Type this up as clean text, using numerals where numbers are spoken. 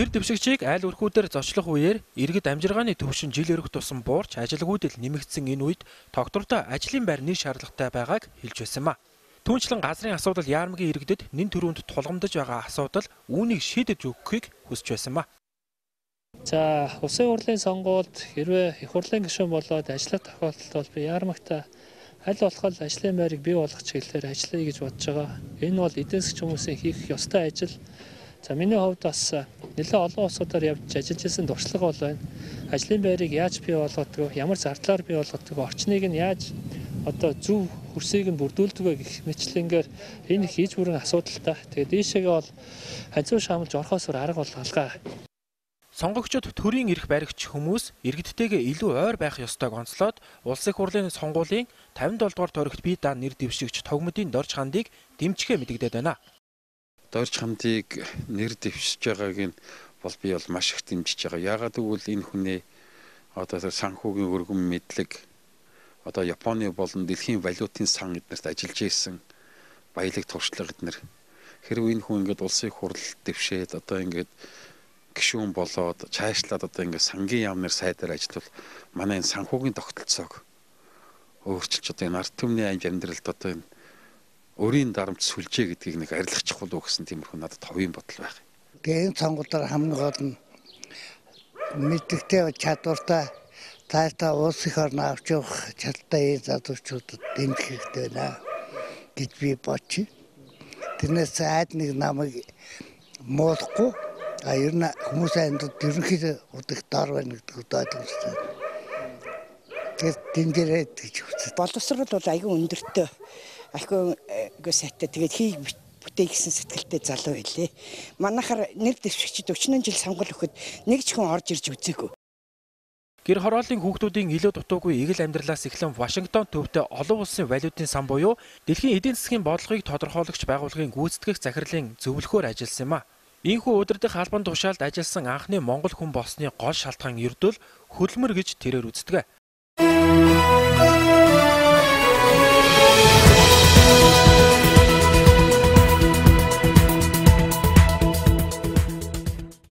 Нэр дэвшигчийг айл өрхүүдээр зочлох үеэр иргэд амжиргааны төвшин жил өрөх тусам буурч ажилгүйдэл нэмэгдсэн энэ үед тогтвортой ажлын байр нэг шаардлагатай байгааг хэлж байсан ба. Түүнчлэн газрын асуудал яармгийн иргэдэд нэн төрөнд тулгамдж байгаа асуудал үүнийг шийдэж өгөхийг хүсэж байсан ба. За, улсын хурлын сонгуульд хэрвээ их хурлын гишүүн болоод ажиллах тохиолдолд бол би яармагтаа аль болох ажлын байрыг бий болгох чиглэлээр ажиллая гэж бодож байгаа. Энэ бол эдийн засгийн хүмүүсийн хийх ёстой ажил. За, миний хувьд бас нэлээд олон улсуудаар явж ажиллаж байсан туршлага бол байна. Ажлын байрыг яаж бий болгодог, ямар зардлаар бий болгодог, орчныг нь яаж зөв хөрсийг нь бүрдүүлдэг вэ гэх мэтлэнгээр энэ хийж бүрэн асуудалтай. Тэгээд ийшээгээ бол ханцуу шаамлж орохоос арга бол алгаа. Сонгогчдод төрийн эрх баригч хүмүүс иргэдтэйгээ илүү ойр байх ёстойг онцлоод улсын хурлын сонгуулийн 57 дугаар тойрогт бие даан нэр дэвшигч Тогмодын Дорж хандыг дэмжихээ мэдэгдээд байна. Дорж хандыг нэр дэвшиж байгааг нь бол би бол маш их дэмжиж байгаа. Яагаад гэвэл энэ хүний санхүүгийн өргөн мэдлэг Японы болон дэлхийн валютын сан эднэрт ажиллаж исэн баялаг туршлага эднэр хэрвээ энэ хүн ингээд улсын хурл дэвшээд ингээд гишүүн болоод цаашлаад ингээд сангийн яамнаар сайдаар ажиллавал манай энэ санхүүгийн тогтолцоог өөрчилж энэ ард түмний амьдралд энэ өрийн дарамт сүлжээ гэдгийг нэг арилгах чухал уу гэсэн тиймэрхүү надад товын бодол байх. Тэгээд сонгуульд хамгийн гол нь мэддэгтэй чадвартай таарта улсын орн авч явах чадтай залуучуудад дэмжих хэрэгтэй байна гэж би бодчих. Тэрнээс айд нэг намайг муулахгүй ер нь хүмүүсийн ерөнхийдөө удах дор байна гэдэг ойлгомжтой. Тэгээд дэмжээрэй гэж үзсэн. Боловсрол бол аягүй өндөртэй. Аягүй сайтай. Тэгээд хийг бүтээй гэсэн сэтгэлтэй залуу байлээ. Манайхаар нэр дэвшигчид 40 жил сонгол өгөхөд нэг ч хүн орж ирж үзээгүй. Гэр хорооллын хүүхдүүдийн илүү дутуугүй эгэл амьдралаас эхлэн Вашингтон төвтэй олон улсын валютын сан буюу дэлхийн эдийн засгийн бодлогыг тодорхойлогч байгууллагын гүйцэтгэх захирлын зөвлөхөөр ажилласан юм а. Ийхүү удирдах албан тушаалд ажилласан анхны монгол хүн болсны гол шалтгаан ердөө хөдөлмөр гэж тэрээр үздэг.